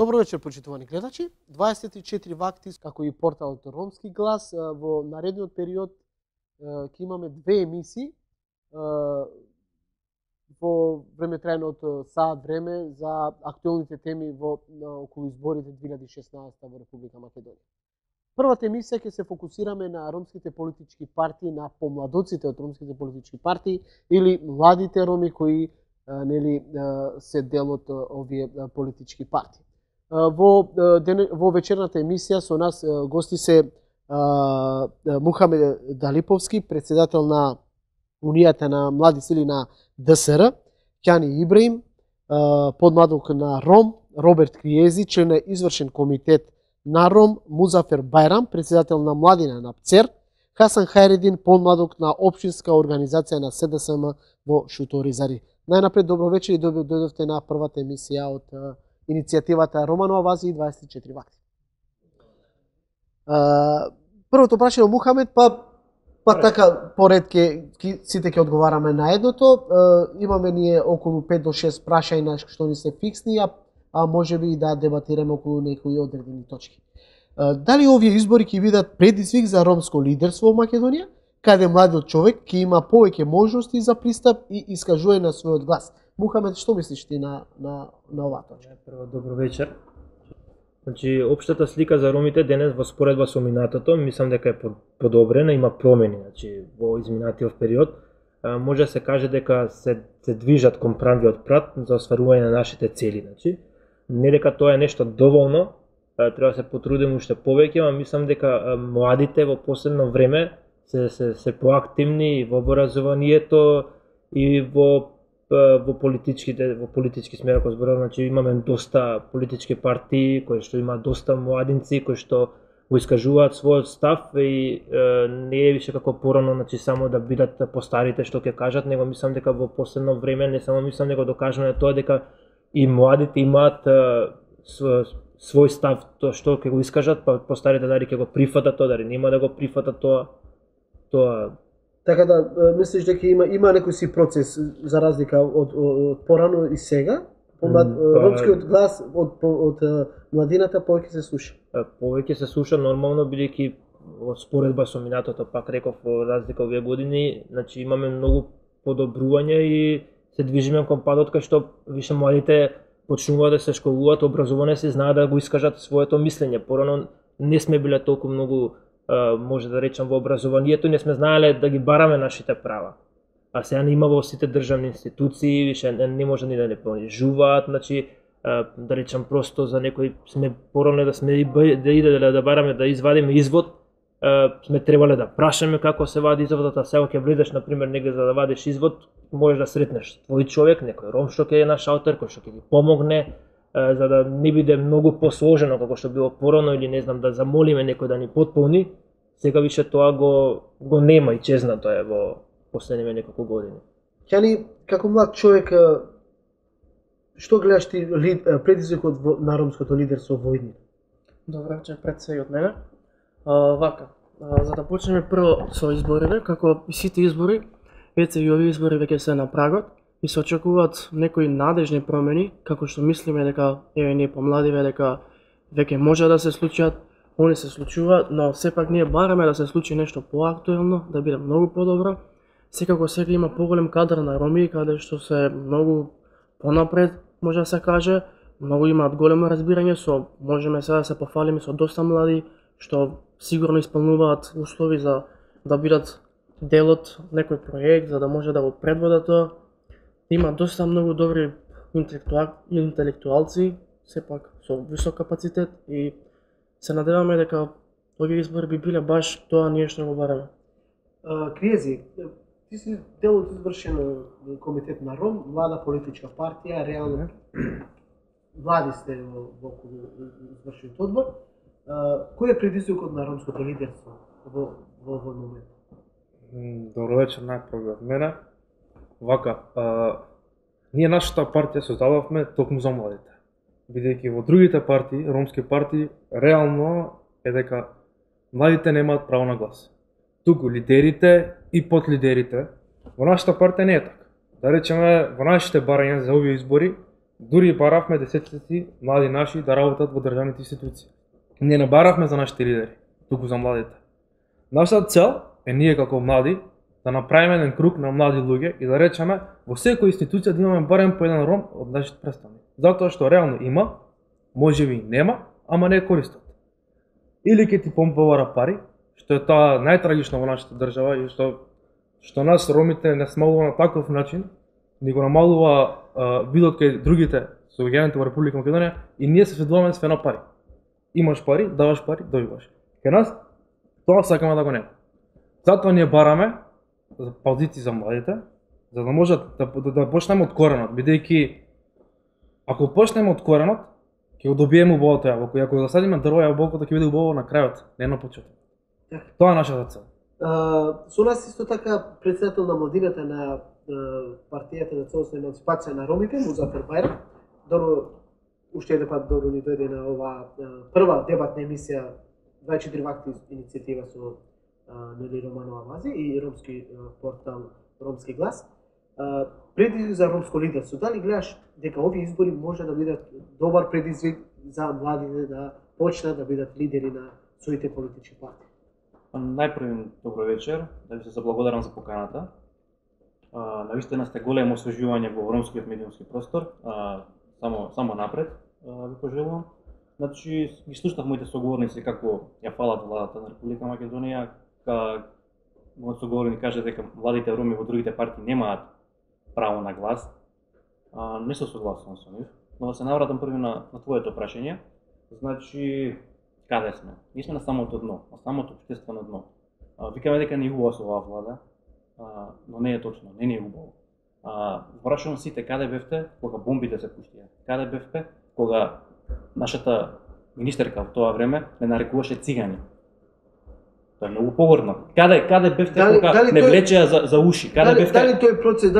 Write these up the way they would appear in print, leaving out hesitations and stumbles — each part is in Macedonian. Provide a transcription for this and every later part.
Добро вечер, почитувани гледачи. 24 вакти, како и порталот Ромски глас, во наредниот период ќе имаме две емисии во времетрајното саат време за актуелните теми во околу изборите 2016 во Република Македонија. Првата емисија ќе се фокусираме на ромските политички партии, на помладоците од ромските политички партии или младите роми кои се дел од овие политички партии. Во вечерната емисија со нас гости се Мухамед Далиповски, председател на Унијата на млади сили на ДСР, Ќани Ибраим, подмладок на Ром, Роберт Криези, член на извршен комитет на Ром, Музафер Бајрам, председател на младина на ПЦЕР, Хасан Хајредин, подмладок на општинска организација на СДСМ во Шуторизари. Најнапред добро вечер и дојдовте на првата емисија од иницијативата Романова Вази и 24 вакти. Првото прашање од Мухамед, па така поред сите ќе одговараме на едното. Имаме ние околу 5 до 6 прашања што ни се фиксни, а можеби и да дебатираме околу некои одредени точки. Дали овие избори ќе бидат предизвик за ромско лидерство во Македонија, каде младиот човек ќе има повеќе можности за пристап и искажување на својот глас? Мухамед, што мислиш ти на оваа точка? Прво, добро вечер. Значи, општата слика за ромите денес во споредба со минатото, мислам дека е подобрена, има промени, значи во изминатиот период. Може да се каже дека се движат кон правиот прат за остварување на нашите цели, значи. Не дека тоа е нешто доволно, треба да се потрудиме уште повеќе, ама мислам дека младите во последно време се поактивни во образованието и во политички смер, ако зборувам, значи имаме доста политички партии кои што има доста младинци кои што го искажуваат својот став и не е више како порано, значи само да бидат постарите што ќе кажат, него мислам дека во последно време не само мислам него докажуваме тоа дека и младите имаат свој став, тоа што ќе го искажат, па постарите дали ќе го прифатат тоа, дали нема да го прифатат тоа. Така да, мислиш дека има некој си процес за разлика од порано и сега? Ромскиот глас од младината повеќе се слуша? Повеќе се слуша нормално, бидејќи во споредба со минатото, пак реков, во разлика овие години, значи имаме многу подобрување и се движиме кон падот кај што више младите почнуваат да се школуваат, образовани се, знаат да го искажат своето мислење. Порано не сме биле толку многу, може да речам, во образованието, не сме знаеле да ги бараме нашите права. А сега не има во сите државни институции, више не може ни да не понижуваат, значи, да речам просто за некој сме порано да бараме да извадиме извод, сме требале да прашаме како се вади изводот, а сега ќе влезеш на пример негде за да вадиш извод, можеш да сретнеш твој човек, некој ром што ќе е на шалтер, кој што ќе ги помогне, за да не биде многу посложено како што било порано или не знам да замолиме некој да ни потполни. Сега више тоа го нема и чезнато е во последниве неколку години. Ќани, како млад човек, што гледаш ти предизвикот на ромското лидерство во иднина? Добро вечер пред се и од мене. За да почнеме прво со изборите, како и сите избори, веќе и овие избори веќе се на прагот и се очекуваат некои надежни промени, како што мислиме дека ние помладиве дека веќе може да се случат, они се случуваат, но сепак ние бараме да се случи нешто поактуелно, да биде многу подобро. Секако сега има поголем кадар на роми, каде што се многу понапред, може да се каже, многу имаат големо разбирање, можеме сега да се пофалиме со доста млади, што сигурно исполнуваат услови за да бидат дел од некој проект, за да може да го предводат тоа. Има доста многу добри интелектуалци, сепак со висок капацитет и се надеваме дека овие избори би биле баш тоа ние што го бараме. Криези, ти си дел од извршен комитет на Ром, млада политичка партија, реално млади сте во извршениот одбор. Кој е предизвикот на ромското лидерство во овој момент? Добро вечер најпрво од мене. Вака, ние нашата партија создадовме токму за младите. Бидејќи во другите партии, ромски партии, реално е дека младите немаат право на глас. Туку лидерите и подлидерите, во нашата партија не е така. Да речеме, во нашите барања за овие избори, Дури баравме десетици млади наши да работат во државните институции. Не баравме за нашите лидери, туку за младите. Нашата цел е ние како млади да направиме еден круг на млади луѓе и да речеме во секоја институција да имаме барем по еден ром од нашите представници. Затоа што реално има, можеби нема, ама не користат. Или ќе ти побара пари, што е тоа најтрагично во нашата држава и што нас ромите не смалува на таков начин, ни го намалува видот кај другите сограѓаните во Република Македонија и ние се сведуваме све на пари. Имаш пари, даваш пари, добиваш. Кај нас тоа сакаме да го нема. Затоа ние бараме за позиции за младите, за да можат да почнеме од коренот, бидејќи ако почнеме од коренот, ќе го добиеме убавото јаболко. И ако го засадиме дрво, јаболкото ќе биде убаво на крајот, не на почетокот. Тоа е нашата цел. Со нас исто така председател на младината на партијата за целосна емансипација на ромите, Музафер Бајрам. Добро, уште еден пат добро ни дојде на оваа прва дебатна емисија 24 вакти иницијатива со Нели Романова Вази и ромски портал Ромски глас. Предизвик за ромско лидерство. Дали гледаш дека овие избори може да бидат добар предизвик за младите да почнат да бидат лидери на своите политички партии? Најпрви добро вечер, да ви се заблагодарам за поканата. Навистина сте големо освежување во ромскиот медиумски простор. Само напред ви пожелувам. Значи, ги слушнав моите соговорници како ја фалат владата на Република Македонија, мојот соговорник каже дека младите роми во другите партии немаат право на глас. Не се согласувам со нив, но да се навратам први на твоето прашање. Значи, каде сме? Ние сме на самото дно, на самото општествено дно. Викаме дека не е убаво со оваа влада, но не е точно, не е убаво. Врашувам сите, каде бевте кога бомбите се пуштија? Каде бевте кога нашата министерка во тоа време не нарекуваше цигани? Тоа е многу погорно. Каде бевте кога не влечеа за уши? Каде бевте? Дали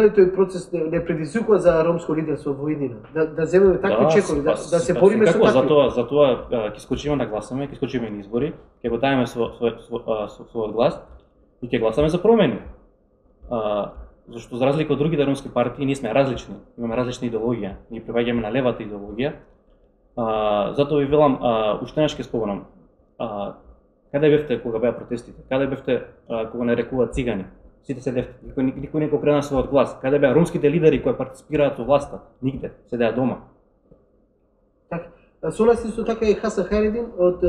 тој процес не предизвикува за ромско лидерство во иднина? Да земеме такви чекови, да се бориме со такви. Затоа ќе скочиме да гласаме, ќе скочиме на избори, ќе го даеме својот глас и ќе гласаме за промени. Зашто за разлика од другите ромски партии ние сме различни, имаме различна идеологија, ние припаѓаме на левата идеологија. Затоа ви велам, уште нешто ќе споменам. Каде бевте кога беа протестите? Каде бевте кога не рекува цигани? Сите седевте, никој не го преда својот глас. Каде беа ромските лидери кои партиципираат во власта? Нигде, седеа дома. Така, со нас исто така е Хасан Хајредин од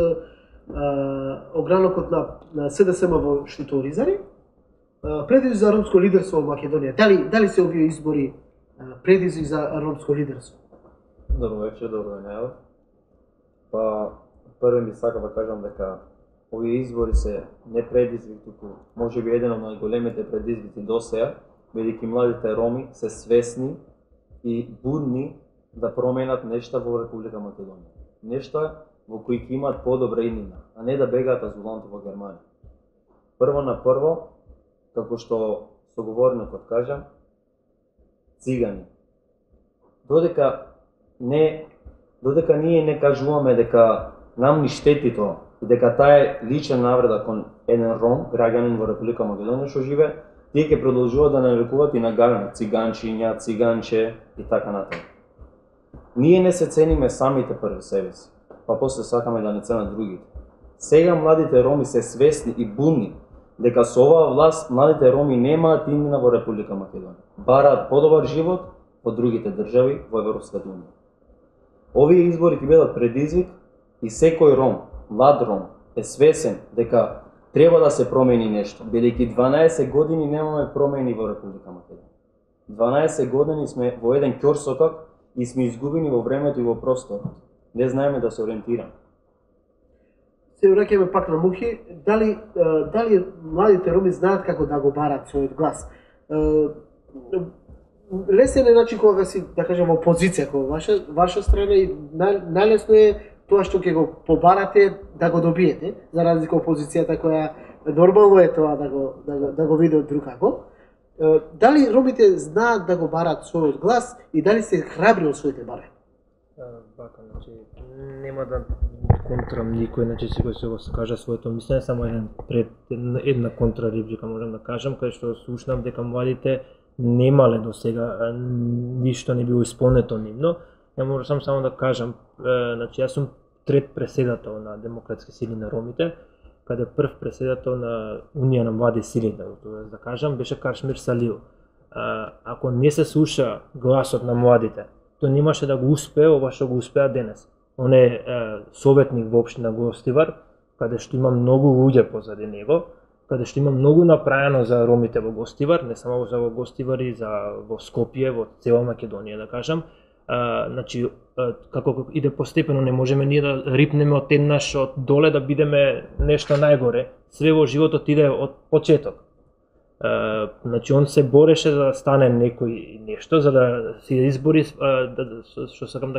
огранокот на СДСМ во Штиторизари. Предизвик за ромско лидерство во Македонија. Дали се овие избори предизвик за ромско лидерство? Добро вечер, добро најава. Првен би сакал да кажам дека овие избори се не предизвик, туку можеби еден од најголемите предизвици досега, бидејќи младите роми се свесни и будни да променат нешта во Република Македонија. Нешта во кои ќе имаат подобра иднина, а не да бегаат азуланти во Германија. Прво на прво, како што соговорникот кажа, цигани. Додека ние не кажуваме дека нам ни штети тоа, и дека таа е лична навреда кон еден ром, граѓанин во Република Македонија што живе, тие ќе продолжуваат да нарекуваат и нагалено циганчиња, циганче и така натаму. Ние не се цениме самите први себе си, па после сакаме да не ценат другите. Сега младите роми се свесни и будни дека со оваа власт младите роми немаат иднина во Република Македонија. Бараат подобар живот во другите држави во Европската унија. Овие избори ќе бидат предизвик и секој ром, млад ром, е свесен дека треба да се промени нешто, бидејќи 12 години немаме промени во Република Македонија. 12 години сме во еден ќорсокак и сме изгубени во времето и во просторот. Не знаеме да се ориентираме. Се враќаме пак на Мухи. Дали младите роми знаат како да го барат својот глас? Лесен е начин кога си, да кажем, во опозиција кога ваша страна и најлесно е тоа што ќе го побарате да го добиете, за разлика од опозицијата која нормално е тоа да го види од друг како. Дали ромите знаат да го барат својот глас и дали се храбри од своите барања? Бака, значи, нема да контрам никој, значи секој се го кажа своето мислење, само една контрарепλика можам да кажам, кај што слушнав дека младите немале до сега, ништо не било исполнето нивно, ја можам само да кажам, значи јас сум трет преседател на Демократски сили на ромите, каде прв преседател на Унија на млади сили, да кажам, беше Кашмир Салиу. Ако не се слуша гласот на младите, тој немаше да го успее ова што го успеа денес. Он е советник во општина Гостивар, каде што има многу луѓе позади него, каде што има многу направено за ромите во Гостивар, не само за во Гостивар и за во Скопје, во цела Македонија, да кажам. Значи, како иде постепено, не можеме ние да рипнеме од еднаш од доле да бидеме нешто најгоре. Све во животот иде од почеток. Значи, он се бореше за да стане некој нешто, за да се избори, што сакам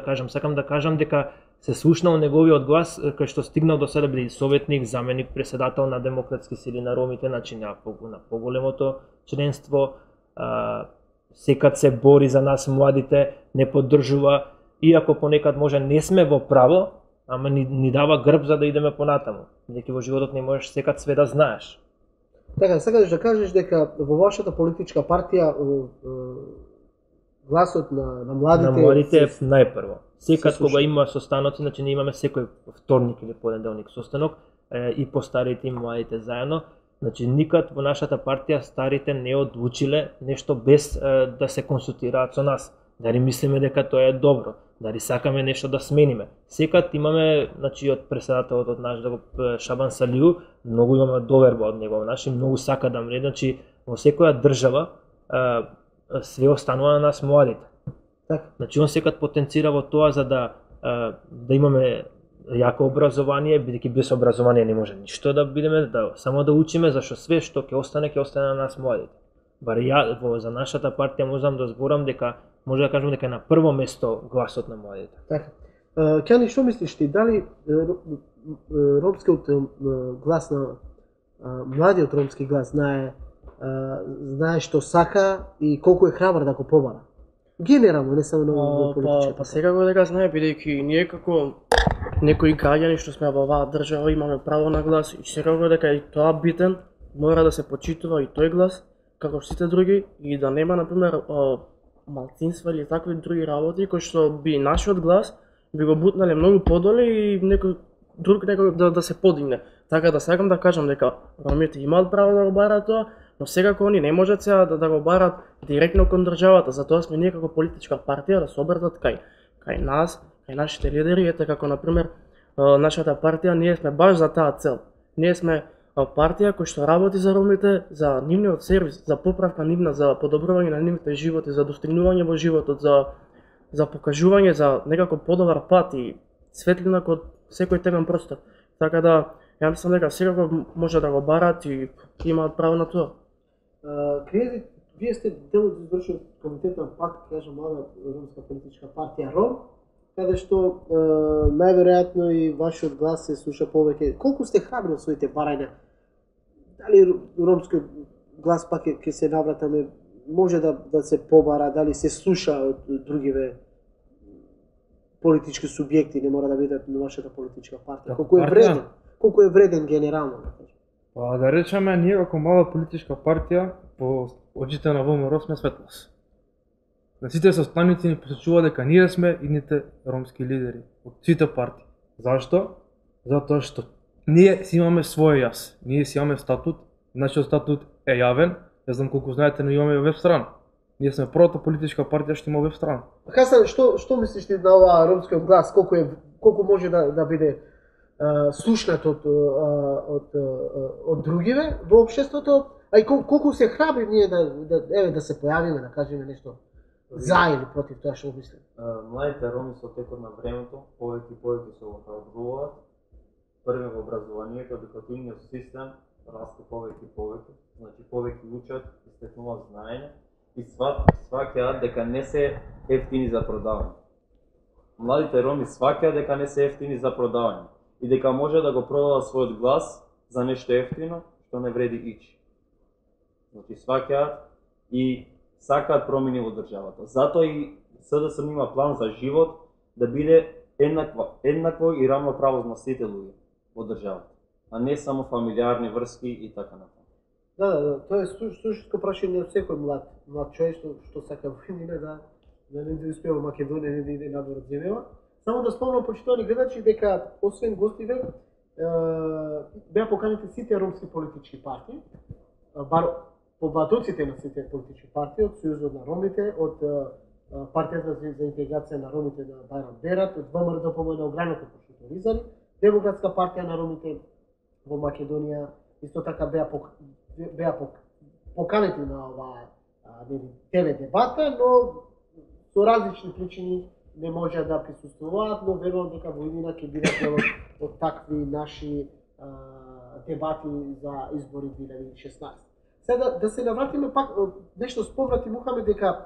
да кажам дека се слушнал неговиот глас, кај што стигнал до сега да биде советник, заменик, преседател на Демократски сили на ромите, значи на поголемото членство, секад се бори за нас младите, не поддржува, иако понекад може не сме во право, ама ни дава грб за да идеме понатаму. Бидејќи во животот не можеш секад све да знаеш. Така, сакаш да кажеш дека во вашата политичка партија гласот на младите е најпрво. Секад кога има состаноци, значи ние имаме секој вторник или понеделник состанок, и по старите и младите заедно. Значи никад во нашата партија старите не одлучиле нешто без да се консултираат со нас. Дали мислиме дека тоа е добро, дали сакаме нешто да смениме. Секад имаме, значи од преседателот од наш Шабан Салиу, многу имаме доверба од него, значи многу сака да мре, значи во секоја држава све останува на нас младите. Значи он секад потенцира во тоа за да имаме јако образование, бидејќи без образование не може ништо да бидеме, само да учиме, зашто све што ќе остане на нас младите. Бар ја за нашата партија можам да зборам дека може да кажам дека е на прво место гласот на младите. Така. Кјани, што мислиш ти, дали ромскиот глас на младиот ромски глас знае што сака и колку е храбар да го побара? Генерално, не само во политичката. Па секако дека знае, бидејќи ние како некои граѓани што сме во оваа држава имаме право на глас и секако дека и тоа битен, мора да се почитува и тој глас како сите други и да нема например малцинства или такви други работи кои што би нашиот глас би го бутнале многу подоле и некој друг да се подигне. Така да сакам да кажам дека ромите имаат право да го бараат тоа, но секако они не можат сега да го барат директно кон државата, затоа сме ние како политичка партија да се обратат кај нас, кај нашите лидери, ете како например нашата партија, ние сме баш за таа цел. Ние сме партија која што работи за ромите, за нивниот сервис, за поправка нивна, за подобрување на нивните животи, за достигнување во животот, за покажување за некако подобар пат и светлина код секој темен простор. Така да, ја мислам дека секако може да го барат и имаат право на тоа. Криези, вие сте дел од извршниот комитет на ПАК, кажам, млада ромска политичка партија РОМ, каде што најверојатно и вашиот глас се слуша повеќе. Колку сте храбри од своите барања? Дали ромскиот глас пак ќе се навратаме, може да се побара, дали се слуша од другиве политички субјекти, не мора да бидат на вашата политичка партија? Колку е вреден генерално? Па да речеме, ние како мала политичка партија по очите на ВМРО сме светлос. На сите состаници ни посочува дека ние сме идните ромски лидери од сите партии. Зашто? Затоа што ние си имаме свој јас. Ние си имаме статут, нашиот статут е јавен. Не знам колку знаете, но имаме веб страна. Ние сме првата политичка партија што има веб страна. Хасан, што мислиш ти на оваа ромскиот глас, колку може да биде слушнат од другиве во општеството, а и колку се храбри ние да се појавиме, да кажеме нешто за или против тоа што мислим? Младите роми со текот на времето повеќе и повеќе се охрабруваат. Прво во образованието, едукативниот систем расте повеќе и повеќе, значи повеќе учат, стекнуваат знаење и сваќаат дека не се ефтини за продавање. Младите роми сваќаат дека не се ефтини за продавање и дека може да го продадат својот глас за нешто ефтино што не вреди ич. Значи сваќаат и сакаат промени во државата. Затоа и СДСМ има план за живот да биде еднакво и равноправо на сите луѓе во државата, а не само фамилиарни врски и така натаму. Да, тоа е суштинско прашање од секој млад човек што сака во име да не успеа во Македонија, не да иде надвор од земјава. Само да спомнам почитувани гледачи дека освен гостиве беа поканети сите ромски политички партии, бар побатоците на сите политички партии, од Сојузот на ромите, од партијата за интеграција на ромите на Бајрам Берат, од ВМРО на ограното пошто Ризани, Демократска партија на ромите во Македонија, исто така беа поканети на оваа ТВ дебата, но со различни причини не може да присуствуваат, но верувам дека во иднина ќе бидат дел од такви наши дебати за избори 2016. Сега да се навратиме пак, нешто спомнати Мухамед дека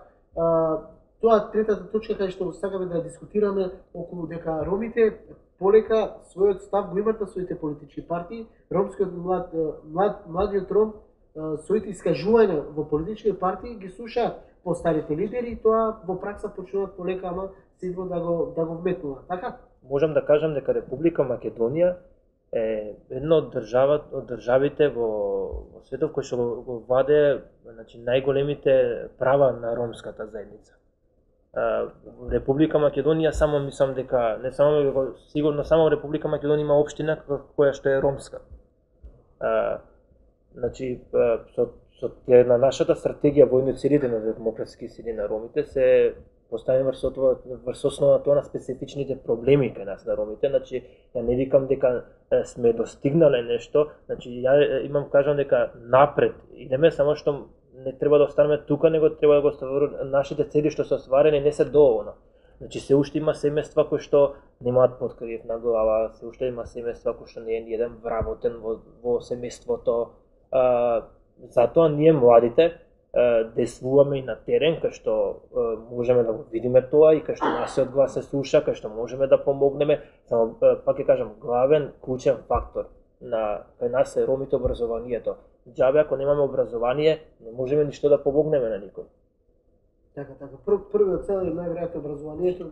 тоа третата точка кај што сакаме да дискутираме околу дека ромите полека својот став го имат на своите политички партии, ромскиот младиот ром своите искажувања во политички партии ги слушаат постарите лидери и тоа во пракса почнуваат полека, ама сигурно да го вметнуваат. Така? Можам да кажам дека Република Македонија е една од државите во светот кој што го ваде, значи, најголемите права на ромската заедница. Република Македонија само мислам дека не само сигурно само Република Македонија има општина која што е ромска. Значи со на нашата стратегија војни целите на демократски сили на ромите се поставени врз основа тоа на специфичните проблеми кај нас на ромите. Значи ја не викам дека сме достигнале нешто, значи ја имам кажам дека напред идеме, само што не треба да останеме тука, него треба да го оставаме нашите цели што се остварени не се доволно. Значи се уште има семејства кои што немаат подкрив на глава, се уште има семејства кои што не е еден вработен во семејството. Затоа ние младите действуваме и на терен, кај што можеме да го видиме тоа и кај што нашиот глас се слуша, кај што можеме да помогнеме. Само пак ќе кажам, главен клучен фактор кај нас е ромите образованието. Џабе ако немаме образование, не можеме ништо да помогнеме на никој. Така. Првиот цел е најверојатно образованието.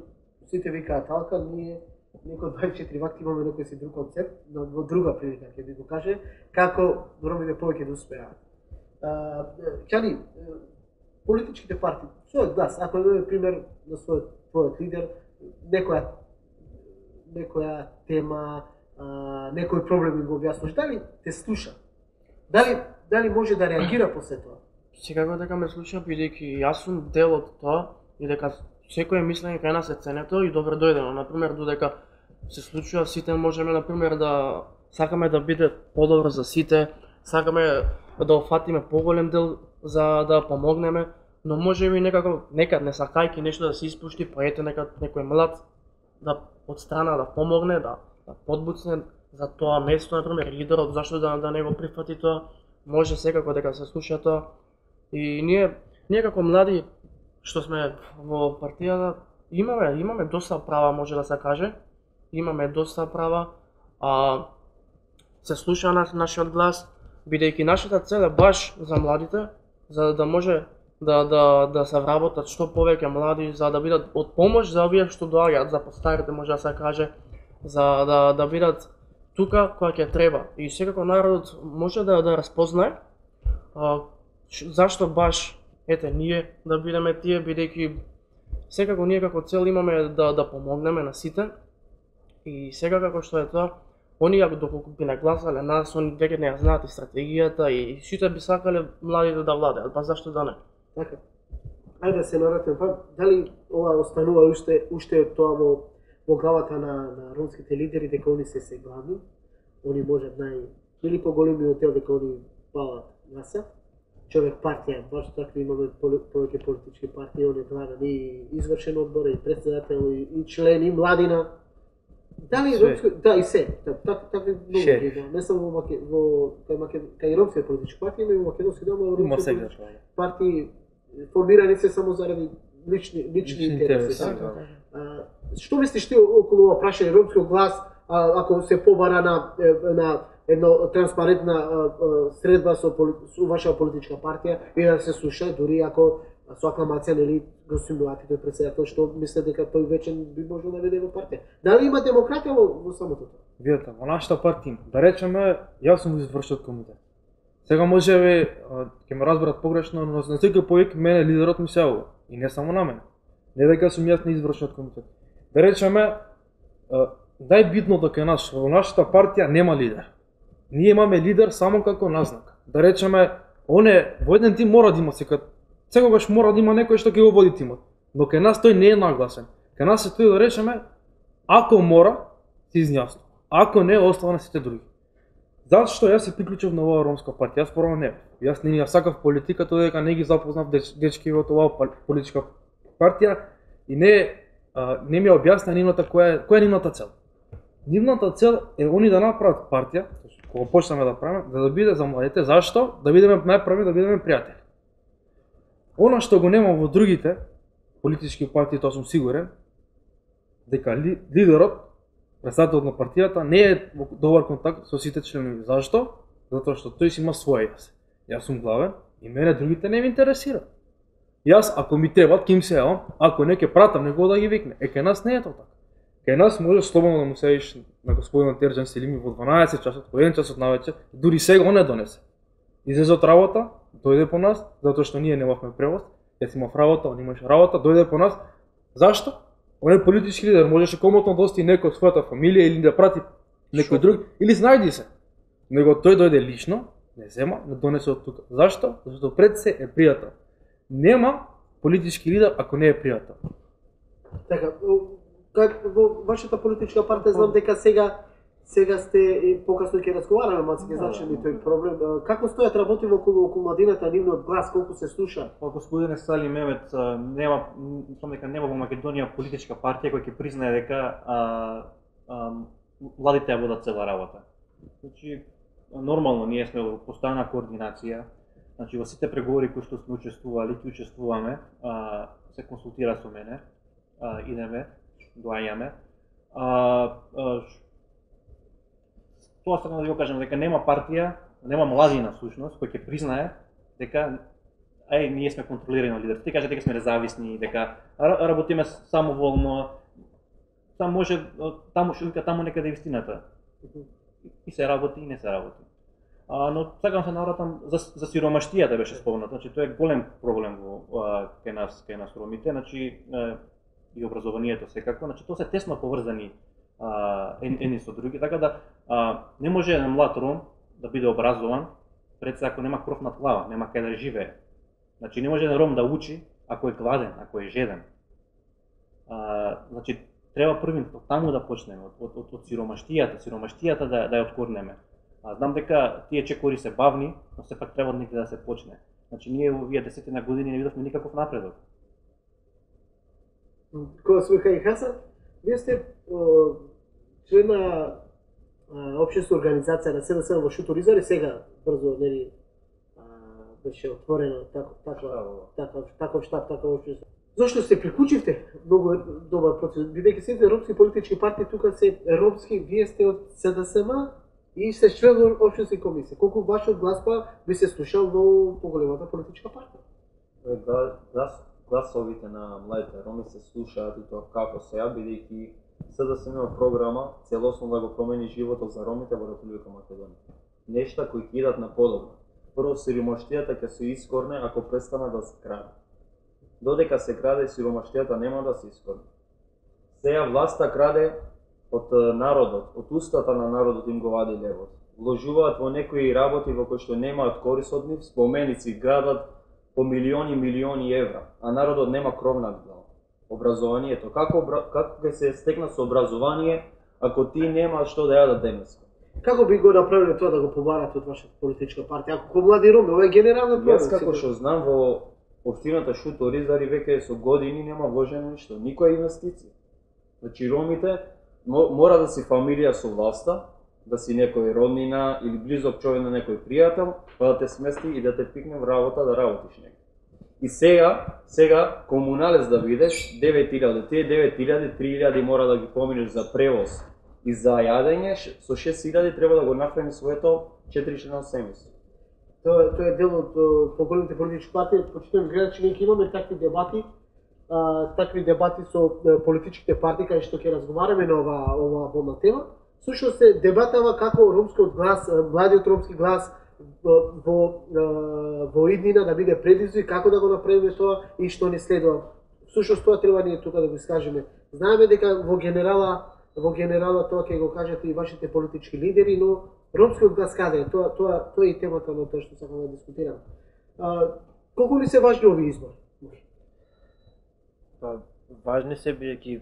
Сите викаат алка, ние некој 24 вакти имаме некој си друг концепт, но во друга прилика ќе ви го каже како ромите повеќе да успеат. Ќани, политичките партии, својот глас, ако имаме пример на својот лидер, некоја тема, некој проблем го објаснуваш, дали те слуша? Дали може да реагира после тоа? Секако дека ме слуша, бидејќи јас сум дел од тоа и дека секој мислење кај нас е ценето и добро дојдено. Например, додека се случува сите можеме например да сакаме да биде подобро за сите, сакаме да офатиме поголем дел за да помогнеме, но може би некад не сакајќи нешто да се испушти, па ете некој млад да од страна да помогне, да подбуцне за тоа место, например, лидерот, зашто да не го прифати тоа, може секако дека се слуша тоа. И ние како млади што сме во партијата имаме доста права, може да се каже. Имаме доста права, се слуша нашиот глас, бидејќи нашата цел е баш за младите, за да може да се вработат што повеќе млади, за да бидат од помош за овие што доаѓаат, за постарите може да се каже, за да бидат тука кога ќе треба. И секако народот може да разпознае зашто баш ние да бидеме тие, бидејќи секако ние како цел имаме да помогнеме на сите. И сега како што е тоа, оние доколку би нагласале нас, они веќе не ја знаат и стратегијата и сите би сакале младите да владеат, па зашто да не? Така. Ајде да се навратиме па, дали ова останува уште тоа во главата на ромските лидери дека они се главни, они можат или поголемиот дел дека они палат гласа, човек партија, баш такви имаме повеќе политички партии, они главен и извршен одбор, и председател, и член, и младина. Дали ромско, да и се, така многу, не само кај ромските политички партии, има и македонски дел, но ромските партии формирани се само заради лични интереси. Што мислиш ти околу ова прашање ромскиот глас, ако се побара на една транспарентна средба со ваша политичка партија и да се слуша, дури ако со акламација нели го симулати тој председател што мисле дека тој вечен би можел да веде во партија. Дали има демократија во самото тоа? Видете, во нашата партија, да речеме, јас сум извршиот комитет. Сега можеби ќе ме разберат погрешно, но на секој повик мене лидерот ми се јавува и не само на мене. Не дека сум јас на извршниот комитет. Да речеме, најбитното кај нас, во нашата партија нема лидер. Ние имаме лидер само како назнак. Да речеме, во еден тим мора да има секогаш мора да има некој што ќе го води тимот. Но кај нас тој не е нагласен. Кај нас е тој да речеме, ако мора, се изјасно. Ако не, остава на сите други. Зашто јас се приклучив на оваа ромска партија? Јас прво не. Јас не ја сакав политиката, дека не ги запознав дечки во оваа политичка партија и не ми објасна нивната која е нивната цел. Нивната цел е они да направат партија, кога почнеме да правиме, да биде за младите. Зашто? Да бидеме најпрви, да бидеме пријатели. Она што го нема во другите политички партии, тоа сум сигурен, дека лидерот, председателот на партијата не е во добар контакт со сите членови. Зашто? Затоа што тој си има своја јас. Јас сум главен и мене другите не ме интересира. Јас ако ми требат, ќе им се јавам, ако не ќе пратам некој да ги викне. Кај нас не е тоа така. Кај нас можеш слободно да му седиш на господин Терџан Селими во 12 часот, во 1 часот навечер, дури сега он не донесе. Излезе од работа, дојде по нас, затоа што ние немавме превоз, јас имав работа, он имаше работа, дојде по нас. Зашто? Он е политички лидер, можеше комотно да ости некој од својата фамилија или да прати некој друг, или знајди се. Него тој дојде лично, не зема, не донесе од тука. Зашто? Зашто пред се е пријател. Нема политички лидер ако не е пријател. Така, во вашата политичка партија знам дека сега сте и покасно ќе разговараме, малку ќе зачнеме тој проблем. Како стојат работи околу младината, нивниот глас, колку се слуша? Господине Сали Мемет, нема во Македонија политичка партија која ќе признае дека младите ја водат цела работа. Значи, нормално ние сме во постојана координација. Значи, во сите преговори кои што сме учествували, ќе учествуваме, се консултира со мене, идеме, доаѓаме. Тоа сакам да ви го кажам, дека нема партија, нема младина всушност, кој ќе признае дека ние сме контролирани од лидерите. Ти кажа дека сме независни, дека работиме самоволно, таму некаде вистината. И се работи и не се работи. Но сакам се навратам за сиромаштијата беше спомнато. Значи тоа е голем проблем кај нас ромите, значи и образованието секако, значи тоа се тесно поврзани едни со други, така да не може еден млад ром да биде образован пред се ако нема кров над глава, нема каде да живее. Значи не може еден ром да учи ако е гладен, ако е жеден. Значи треба првин таму да почнеме, од сиромаштијата да ја откорнеме. Знам дека тие чекори се бавни, но сепак треба некаде да се почне. Значи ние во овие 10 години не видовме никаков напредок. Кога сме кај Хасан, вие сте член на општинска организација на СДС во Шуторизар и сега брзо нели беше отворено таков штаб, таков општинство. Зошто се приклучивте? Многу добар процес. Бидејќи сите ромски политички партии тука се ромски, вие сте од СДСМ и сте член во општинска комисија. Колку вашиот глас би се слушал во поголемата политичка партија? Гласовите на младите роми се слушаат и тоа како сега, бидејќи СДСМ има програма целосно да го промени животот за ромите во Република Македонија. Нешта кои ќе идат на подобро. Прво, сиромаштијата ќе се искорне ако престана да се краде. Додека се краде, сиромаштијата нема да се искорне. Сега власта краде од народот, од устата на народот им го вади левот. Вложуваат во некои работи во кои што немаат корис од нив, споменици градат по милиони евра, а народот нема кров над глава. Образованието, како ќе се стекна со образование ако ти нема што да јадат денеска? Како би го направиле тоа да го побарате од вашата политичка партија? Ако млади роми, ова е генерална проблем. Јас како што знам во општината Шуторизари веќе со години нема вложено ништо, никоја инвестиција. Значи ромите мора да си фамилија со власта, да си некој роднина или близок човек на некој пријател, па да те смести и да те пикне во работа да работиш некој. И сега комуналец да бидеш 9.000, тие 9.000, 3.000 мора да ги поминеш за превоз и за јадење, со 6.000 треба да го нахрани своето 4-члено семејство. Тоа е дел од поголемите политички партии. Почитувам гледачи, ние имаме такви дебати со политичките партии кај што ќе разговараме на оваа болна тема. Слушно се дебатава како ромскиот глас, младиот ромски глас во иднина да биде предизвик, како да го направиме тоа и што не следува Всушност тоа треба ние тука да го искажеме. Знаеме дека во генерала тоа ќе го кажете и вашите политички лидери, но ромскиот глас каде е? Тоа е и темата на тоа што сакам да дискутирам. Колку ли се важни овие избори? Важни се бидејќи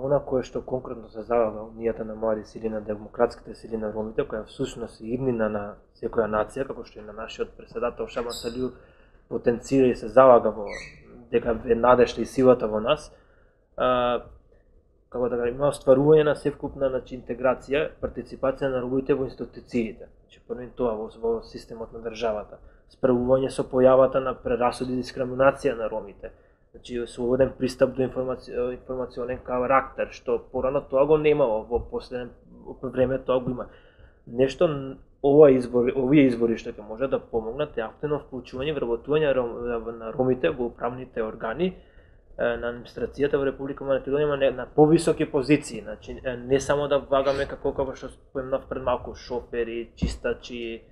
она кое што конкретно се залага унијата на млади сили, на демократските сили на ромите, која всушност е иднина на секоја нација, како што и на нашиот председател Шаман Салиу потенцира и се залага во дека е надежта и силата во нас, како да има остварување на севкупна интеграција, партиципација на ромите во институциите. Прво тоа во системот на државата, справување со појавата на прерасуди и дискриминација на ромите, слободен пристап до информационен карактер, што порано тоа го немало, во последно време тоа го има. Нешто овие избори што ќе може да помогнат е активно вклучување и вработување на ромите во управните органи на администрацијата во Република Македонија на повисоки позиции, значи не само да влагаме како што спомнав пред малку шофери, чистачи,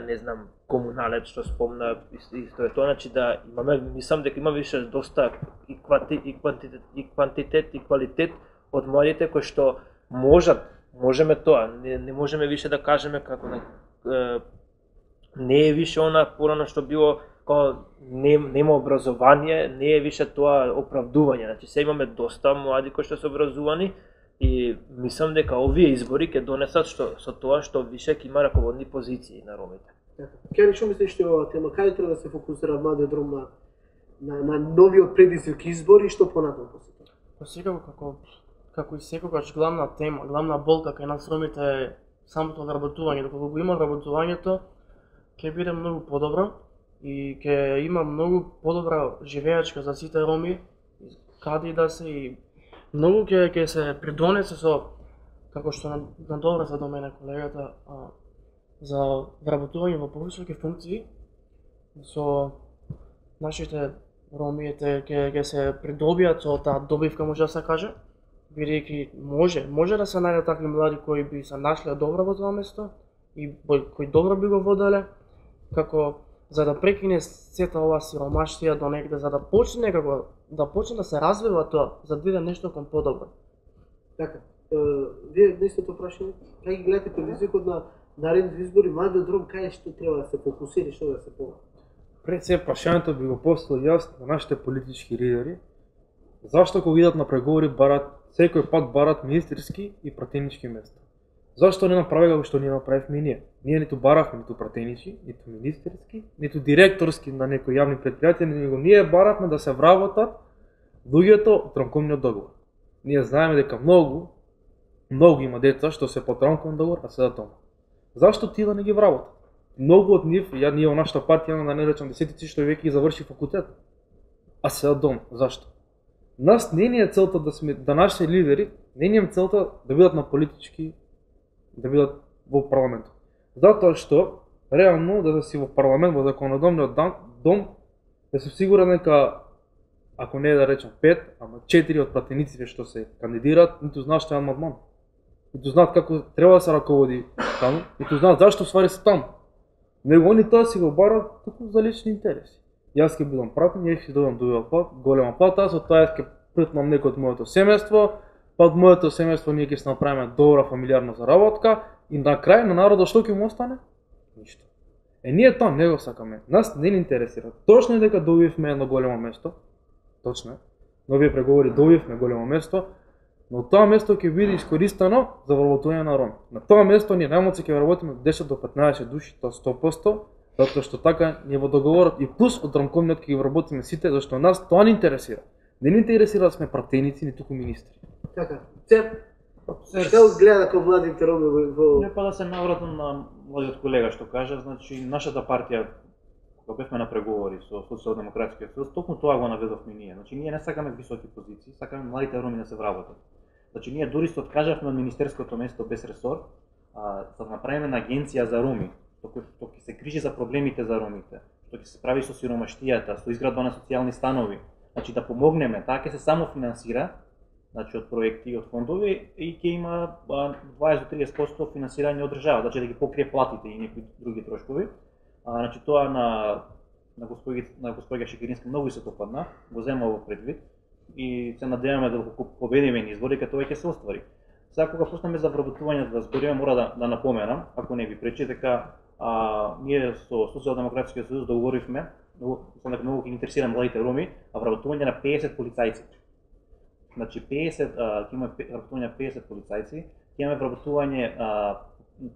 не знам, комуналец што спомна исто е тоа, значи да имаме, мислам дека има више доста и квантитет и квалитет од младите кои што можеме тоа, не можеме више да кажеме како не е више она порано што било нема образование, не е више тоа оправдување, значи се имаме доста млади кои што се образувани и мислам дека овие избори ќе донесат со тоа што више ќе има раководни позиции на ромите. Кјани, што мислиш што оваа тема, каде треба да се фокусира младиот ром на новиот предизвик избори и што понатаму после тоа? Па секако како и секогаш главна тема, главна болка кај нас ромите е самото вработување. Доколку го има вработувањето, ќе биде многу подобро и ќе има многу подобра живеачка за сите роми, каде и да се и многу ќе се придонесе со, како што надобра за до мене колегата, за вработување во повисоки функции, со нашите ромиите ќе се придобијат со таа добивка, може да се каже, бидејќи може да се најдат такви млади кои би се нашле добро во тоа место и кои добро би го воделе, како за да прекине сета ова сиромаштија до негде, за да почне да се развива тоа, за да биде нешто кон подобро. Така, вие истото прашање, кај ги гледате предизвикот на наредните избори, младиот ром кај што треба да се фокусира и што да се помага? Пред се прашањето би го поставил јас на нашите политички лидери, зашто кога идат на преговори секој пат барат министерски и пратенички места? Зашто не направи како што ние направивме и ние? Ние ниту баравме ниту пратенички, ниту министерски, ниту директорски на некои јавни предпријатија, него ние баравме да се вработат луѓето од рамковниот договор. Ние знаеме дека многу има деца што се под рамковен договор, а седат дома. Зашто тие да не ги вработат? Многу од нив, ние во нашата партија имаме да не речам десетици што веќе ги заврши факултет, а седат дома. Зашто? Нас не ни е целта да нашите лидери, не ни е целта да бидат на политички, да бидат во парламентот. Затоа што реално да си во парламент, во законодавниот дом, да се сигурен дека ако не да речем 5, ама 4 од пратениците што се кандидираат, ниту знаат што е амандман. Ниту знаат како треба да се раководи таму, ниту знаат зашто ствари се таму. Него они тоа си го барат туку за лични интереси. Јас ќе бидам пратен, ќе добивам голема плата, со тоа ќе притнам некој од моето семејство, па од моето семејство ние ќе се направиме добра фамилиарна заработка и на крај на народот што ќе му остане? Ништо. Ние тоа не го сакаме. Нас не ни интересира. Точно е дека добивме едно големо место. Точно е. На овие преговори добивме големо место, но тоа место ќе биде искористено за вработување на роми. На тоа место ние најмалку ќе вработиме 10 до 15 души, тоа 100%, затоа што така ние во договорот и плюс од рамковниот ќе ги вработиме сите, зашто нас тоа не интересира. Не ни интересира да сме пратеници, ни туку министри. Така, што гледа како младите роми во... Не па да се навратам на младиот колега што кажа, значи нашата партија, кога бевме на преговори со Социјалдемократскиот сојуз, токму тоа го наведовме ние. Значи ние не сакаме високи позиции, сакаме младите роми да се вработат. Значи ние дури се откажавме од министерското место без ресор, за да направиме на агенција за роми, што ќе се грижи за проблемите за ромите, што ќе се справи со сиромаштијата, со изградба на социјални станови. Значи да помогнеме, таа ќе се само финансира, значи од проекти и од фондови и ќе има 20 до 30% финансирање од држава, значи да ги покрие платите и некои други трошкови. Значи тоа на на господја Шекеринска многу се допадна, го зема во предвид и се надеваме да доколку победиме на изборите, тоа ќе се оствари. Сега кога почнеме за вработување да збориме, мора да напоменам, ако не ви пречи, дека ние со Социјалдемократскиот сојуз договоривме, многу ќе интересира младите роми, вработување на 50 полицајци. Значи 50 ќе имаме вработување на 50 полицајци, ќе имаме вработување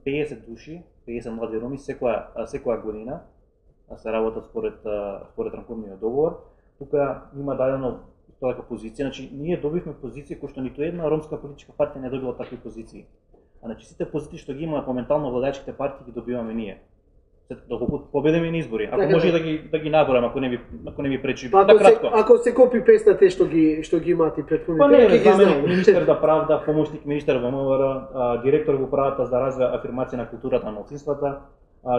50 души, 50 млади роми секоја година, се работат според рамковниот договор. Тука има дадено тоа како позиција, значи ние добивме позиции кои што ниту една ромска политичка партија не добила такви позиции. Значи сите позиции што ги има моментално владеачките партии ги добиваме ние. Доколку победиме на избори, ако може да ги наборам, ако не ми пречи, кратко. Ако се копи песта те што ги имаат и претходните, ќе ги знаеме. Министер за правда, помошник министер во МВР, директор во управата за развој афирмација на културата на малцинствата,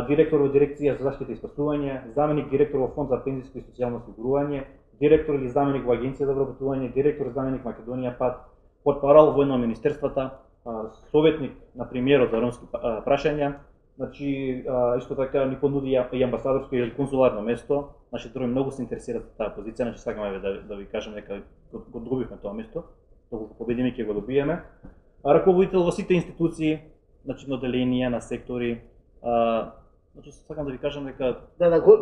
директор во дирекција за заштита и спасување, заменик директор во фонд за пензијско и социјално осигурување, директор или заменик во агенција за вработување, директор заменик Македонија ПАД, портпарол војно министерствата, советник на премиерот за ромски прашања. Значи исто така ни понуди и амбасадорско или консуларно место. Нашите роми многу се интересираат за таа позиција, значи сакаме да ви кажам дека го добивме тоа место, доколку победиме ќе го добиеме. Раководител во сите институции, значи на оделенија, на сектори. Значи сакам да ви кажам дека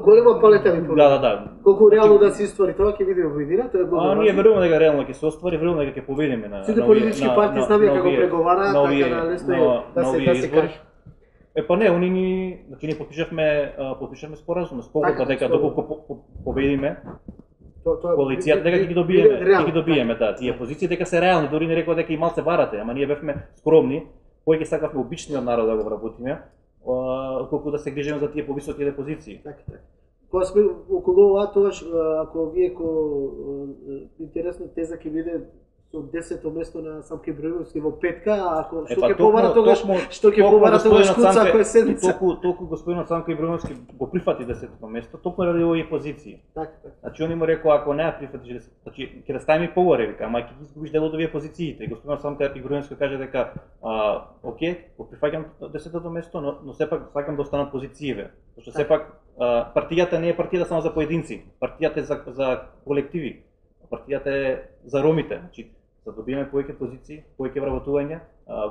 голема палета ви понуди. Да. Колку реално да се иствари тоа ќе видиме во иднина, тоа е многу важно. Ние веруваме дека реално ќе се оствари, веруваме дека ќе победиме на сите политички партии знаме како преговараат, така да лесно е да се каже. Па не, ние подпишавме споразум, спогодба дека доколку победиме коалицијата дека ќе ги добиеме, да, тие позиции дека се реални, дури не рекоа дека и малце барате, ама ние бевме скромни, кој ќе сакавме обичниот народ да го вработиме, колку да се грижиме за тие повисоките позиции. Така. Кога сме околу ова, тогаш ако вие интересна теза ќе биде со 10-то место на Самка Ибраимовски во петка, ако што ќе побара тогаш, Куца кој седмица. Толку господинот Самка Ибраимовски го прифати 10-то место, токму ради овие позиции. Така. Значи он му рекол ако не ја прифатиш, значи ќе да ставиме погоре, вика, ама ќе ги изгубиш дел од овие позициите. И господинот Самка Ибраимовски каже дека окей, го прифаќам 10-то место, но сепак сакам да останат позициите, зашто сепак партијата не е партија само за поединци, партијата е за колективи. Партијата е за ромите, значи да добиеме повеќе позиции, повеќе вработување.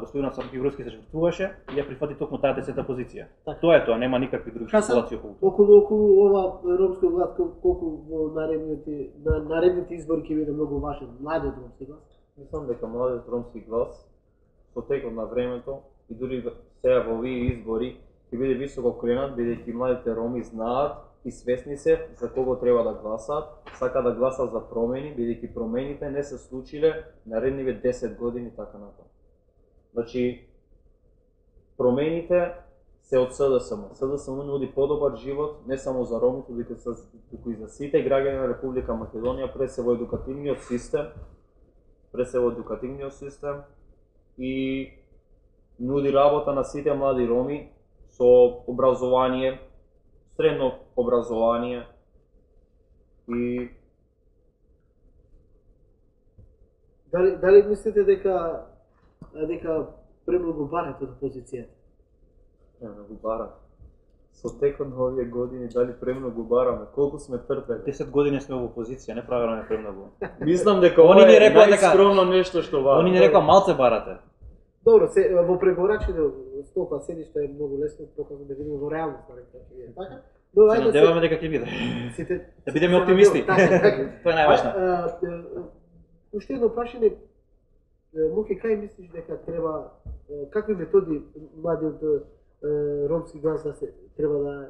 Господинот Самка Ибраимовски се жртвуваше и ја прифати токму таа 10-та позиција. Тоа е тоа, нема никакви други спекулации околу. Околу ова ромско глас, колку во наредните избори ќе биде многу важен младиот ромски глас? Мислам дека младиот ромски глас со текот на времето и дури сега во овие избори ќе биде високо кренат, бидејќи младите роми знаат и свесни се за кого треба да гласаат, сака да гласаат за промени, бидејќи промените не се случиле наредниве 10 години така натаму. Значи, промените се од СДСМ. СДСМ нуди подобар живот не само за ромите, туку и за сите граѓани на Република Македонија, пред се во едукативниот систем, и нуди работа на сите млади роми со образование, средно образование и Дали мислите дека премногу барате од опозицијата? Премногу бараме. Со текот на овие години дали премногу бараме, колку сме трпели. 10 години сме во опозиција, не правиме премногу. Мислам дека ова е најскромно нешто што бараме. Они ни рекоа малце барате. Добро, во преговорачите столпа седиште е многу лесно, показно да видиме во реалност, така? Се надеваме дека ќе биде. Да бидеме оптимисти. Тоа е најважно. Уште едно прашање, Муке, кај мислиш дека треба, какви методи младиот ромски глас треба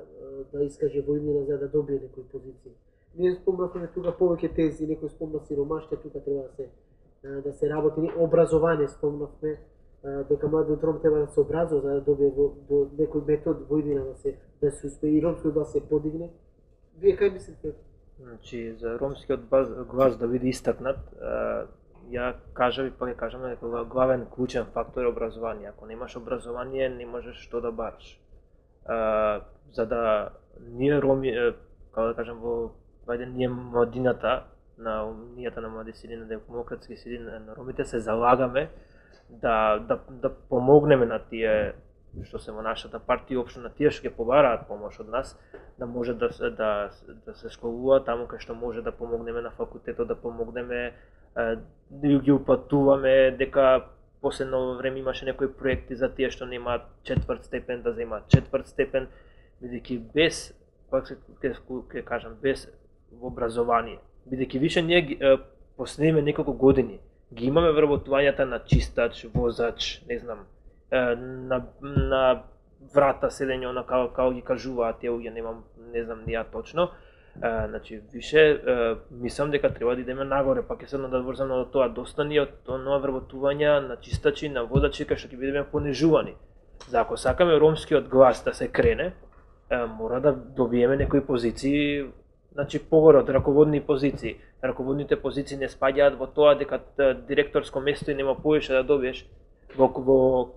да искаже во иднина за да добие некои позиции? Ние спомнавме тука повеќе тези, некој спомна сиромаштво, тука треба да се работи, образование спомнавме, дека младиот ром треба да се образува за да добие до некој метод во иднина да се успее и ромскиот глас се подигне. Вие кај мислите? Значи, за ромскиот глас да биде истакнат, ја кажав и пак ја кажам дека главен клучен фактор е образование. Ако немаш образование, не можеш што да бараш. За да ние роми, како да кажам, ние младината, на унијата на млади сили, на демократски сили на ромите се залагаме да помогнеме на тие што се во нашата партија, општо на тие што ќе побараат помош од нас, да може да се школуваат таму кај што може да помогнеме на факултетот, да помогнеме, да ги упатуваме, дека последно време имаше некои проекти за тие што немаат четврт степен, да земаат четврт степен, бидејќи без, пак ќе кажам, без образование, бидејќи више ние последниве неколку години ги имаме вработувањата на чистач, возач, не знам, на врата седење, она како ги кажуваат тие, не знам ни ја точно. Значи, више, мислам дека треба да идеме нагоре, па ќе се надврзам на тоа, доста ни од тоа вработувања на чистачи, на водачи, кај што ќе бидеме понижувани. За ако сакаме ромскиот глас да се крене, мора да добиеме некои позиции, значи погоре од раководни позиции. Раководните позиции не спаѓаат во тоа дека директорско место и нема повеќе да добиеш. Во